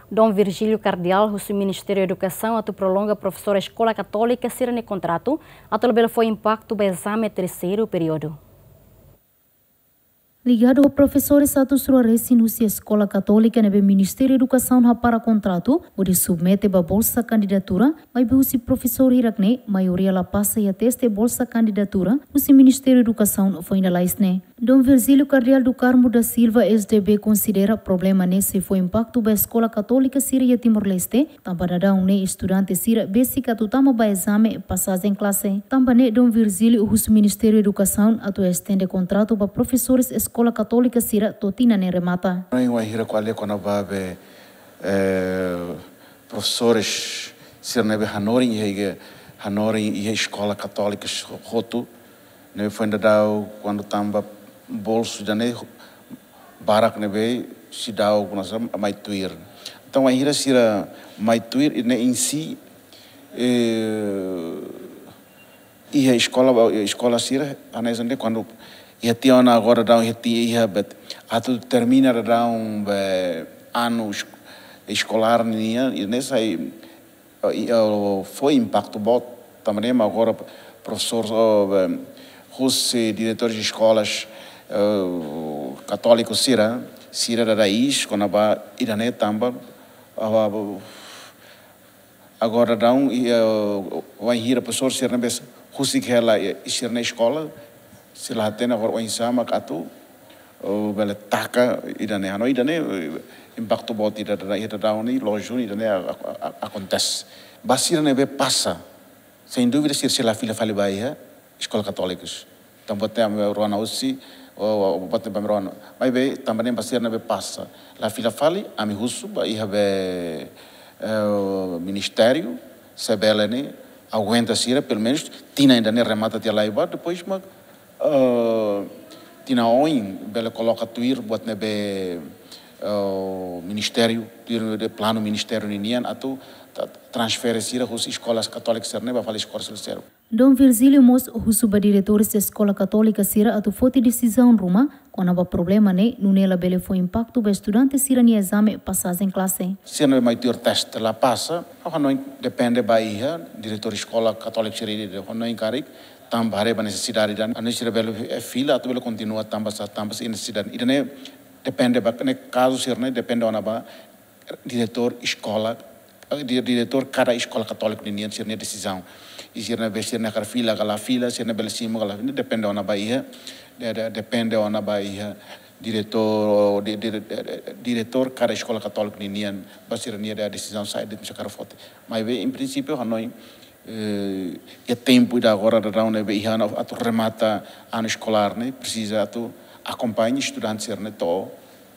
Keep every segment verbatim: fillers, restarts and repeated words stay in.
Dom Virgílio Kardeál husu Ministériu Edukasaun atu prolonga profesór eskola katólika sira-nia kontratu atu labele fó impaktu ba ezame terseiru períodu. Ligadu ho profesores atus rua resin husi eskola katólika ne'ebé Ministériu Edukasaun hapara kontratu hodi submete ba bolsa kandidatura, maibé husi profesór hirak-ne'e maioria la pasa iha teste bolsa kandidatura husi Ministériu Edukasaun foin lalais ne'e. Dom Virgílio Kardeál do Carmo da Silva, S D B, konsidera problema ne'e sei fó impaktu ba eskola katólika sira iha Timor-Leste, tanba daudaun ne'e estudante sira besik atu tama ba ezame pasajen klase. Tanba ne'e Dom Virgílio husu Ministériu Edukasaun atu estende kontratu ba profesores eskola katólika sira to'o tinan ne'e remata. Hanoin wainhira ko'alia kona-ba be, eh, profesores sira ne'ebé hanorin iha, hanorin iha eskola katólika hotu, ne'ebé foin daudaun kuandu tamba bolsu ida-ne'e barak ne'ebé seidauk, nasa, mai tuir. Entaun wainhira sira mai tuir, i ne'e em si, eh, iha eskola, eskola sira, hanesan de'it kuandu iha tiha ona agora daudaun iha ti-, iha bet atu termina daudaun be anu es-, eskolár nian, i ne'e sai, eh, i, eh, fó impaktu boot, tanba ne'e mak agora profesór, eh, be, husi diretores de escolas, eh, katóliku sira, sira dada iis kona-ba ida-ne'e tanba, ah, agora daudaun, i, eh, wainhira profesór sira ne'ebé husik hela, eh, sira-nia eskola, sira la hatene agora oinsá mak atu, eh, bele taka ida-ne'e. Hanoin ida-ne'e, eh, impaktu boot ida daudaun, ida daudaun ne'e, loos duni ida-ne'e a-, a-, a-, akontese. Ba sira ne'ebé pasa, sem dúvida, sira, sira la fila fali ba iha eskola katólika. Tanba te ami rona husi, o, o, o, bote ba ami rona. Maibé, tanba ne'e ba sira ne'ebé pasa la fila fali, ami husu ba iha be, eh, ministériu, se bele ne'e aguenta sira, pelumenus, tinan ida-ne'e remata tiha lai ba, depois mak, eh, tinan oin, bele koloka tuir, buat ne'ebé, eh, ministériu, tuir de planu ministériu ninian, atu ta-, transfere sira husi eskolas katólika sira-ne'e ba fali eskola seluk. Dom Virgílio mós husu ba diretores eskola katólika sira atu foti desizaun ruma kona-ba problema ne'e, nune'e labele fó impaktu ba estudante sira-nia ezame pasajen klase. Sira ne'ebé mai tuir teste la pasa, ha'u hanoin depende ba iha diretór eskola katólika sira ida-idak, ha'u hanoin karik, tanba haree ba nesesidade ida-ne'e, hanoin sira bele, eh, fila atu bele kontinua tanba sá, tanba sá iha nesesidade. Ida-ne'e depende ba, ne'e kazu sira-ne'e depende ona ba diretór eskola, eh, di-, diretór kada eskola katólika ninian sira-nia desizaun. I sira ne'ebé sira-nia hakarak fila ka la fila, sira-nia bele simu ka la, ne'e depende ona ba iha, de-, de-, depende ona ba iha diretór, di-, di-, di-, diretór kada eskola katólika ninian, ba sira-nia desizaun saida mak sira hakarak foti. Maibé, em princípio, hanoin, eh, iha tempu ida agora daudaun ne'ebé iha ona atu remata anu eskolár ne'e, presiza atu akompaña estudante sira-ne'e to'o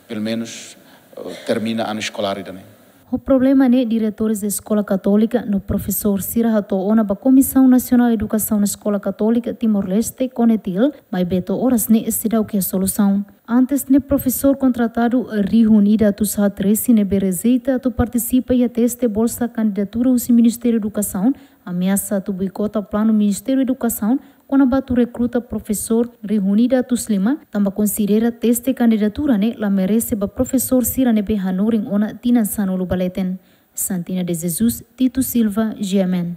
pelumenus, eh, termina anu eskolár ida-ne'e. Ho problema ne'e diretores de eskola katólika no profesór sira hato'o ona ba Komisaun Nasionál Edukasaun Eskola Katólika Timor-Leste, CONETIL, maibé to'o oras ne'e seidauk iha solusaun. Antes ne'e profesór kontratadu rihun ida atus haat resin ne'ebé rejeita atu partisipa iha teste bolsa kandidatura husi Ministériu Edukasaun, ameasa atu boikota planu Ministériu Edukasaun kona-ba atu rekruta profesór rihun ida atus lima, tanba konsidera teste kandidatura ne'e la merese ba profesór sira ne'ebé hanorin ona tinan sanulu ba leten. Santina de Jesus, Tito Silva, G M N.